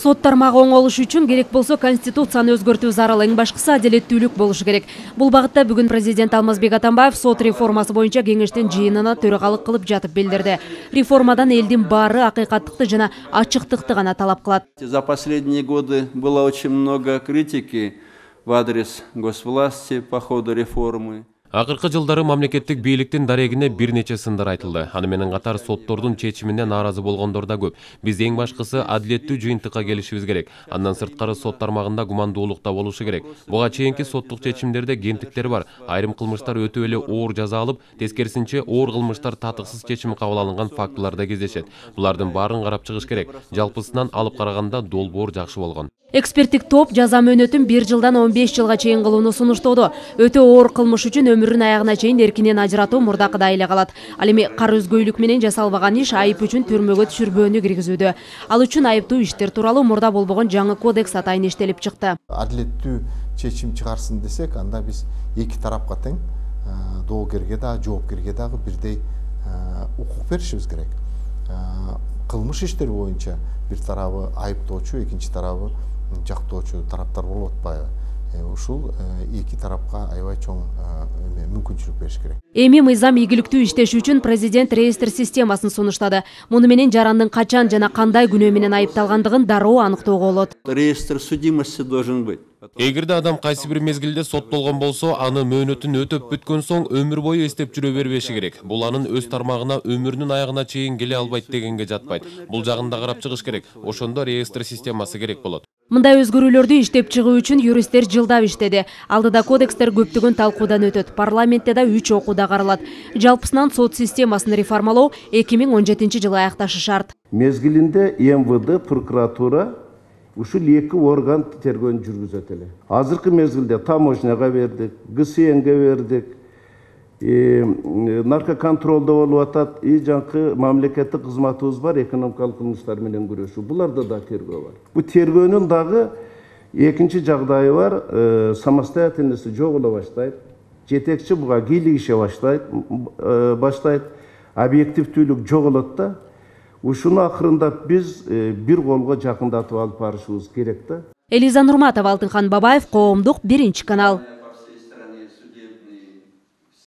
Сот тармагы оңолуш үчүн керек болсо конституцияны өзгөртүү зарыл, эң башкысы адилеттүүлүк болушу керек. Бул багытта бүгүн президент Алмазбек Атамбаев сот реформасы боюнча кеңештин жыйынына төрагалык кылып жатып билдирди. Реформадан элдин баары акыйкаттыкты жана ачыктыкты гана талап кылат. За последние годы было очень много критики в адрес госвласти по ходу реформы. Акыркы жылдары мамлекеттик бийликтин дарегине бир нече сындар айтылды. Аны менен катар соттордун чечимине нааразы болгондор да көп. Биз эң башкысы адилеттүү жыйынтыкка келишибиз керек. Андан сырткары сот тармагында гумандуулук да болушу керек. Буга чейинки соттук чечимдерде кемтиктер бар. Айрым кылмыштар өтө эле оор жаза алып, тескерисинче оор кылмыштар татыксыз чечим кабыл алынган фактылар да кездешет. Булардын баарын карап чыгыш керек. Жалпысынан алып караганда долбоор жакшы болгон. Эксперттик топ жаза мөөнөтүн 1 жылдан 15 жылга чейин кылууну сунуштоодо. Өтө оор кылмыш үчүн өмүрүн аягына чейин эркинен ажыратуу мурдакыдай эле калат. Ал эми кар өзгөйлүк менен жасалбаган иш айып үчүн түрмөгө түшүрбөөнү киргизүүдө. Ал үчүн айыптуу иштер тууралуу мурда болбогон жаңы кодекс атайын иштелип чыкты. Адилеттүү чечим чыгарсын десек, анда биз эки тарапка тең, доогерге да, жоопкерге дагы бирдей укук беришибиз керек. Кылмыш иштери боюнча бир тарабы айыптоочу, экинчи тарабы жактоочу тараптар болуп атпайбы? Ушул эки тарапка аябай чоң мүмкүнчүлүк бериш керек. Эми мыйзам ийгиликтүү иштеш үчүн президент реестр системасын сунуштады. Муну менен жарандын качан жана кандай күнөө менен айыпталгандыгын дароо аныктоого болот. Реестр судимости должен быть. Эгерде адам кайсы бир мезгилде соттолгон болсо, аны мөөнөтүн өтөп бүткөн соң өмүр бою эстеп жүрө бербеши керек. Бул анын өз тармагына өмүрүнүн аягына чейин келе албайт дегенге жатпайт. Бул жагын да карап чыгыш керек. Ошондо реестр системасы керек болот. Мындай өзгөрүүлөрдү иштеп чыгуу үчүн юристтер жылдап иштеди. Алдыда кодекстер көптөгөн талкуудан өтөт. Парламентте да 3 окууда каралат. Жалпысынан сот системасын реформалоо 2017 жылы аякташы шарт. Мезгилинде МВД, прокуратура ушул эки орган тергөөнү жүргүзөт эле. Азыркы мезгилде таможняга бердик, ГСНге бердик, наркоконтролдо болуп атат, жаңкы мамлекеттик кызматыбыз бар, экономикалык кылмыштар менен күрөшүү. Буларда да тергөө бар. Бу тергөөнүн дагы экинчи жагдайы бар, самостоятельности жоголо баштайт, жетекчи буга кийлигише баштайт, объективдүүлүк жоголот да. Ушуну акырында биз бир колго жакындатып алып барышыбыз керек да. Элиза Нурматова, Алтынхан Бабаев, Коомдук, 1 канал.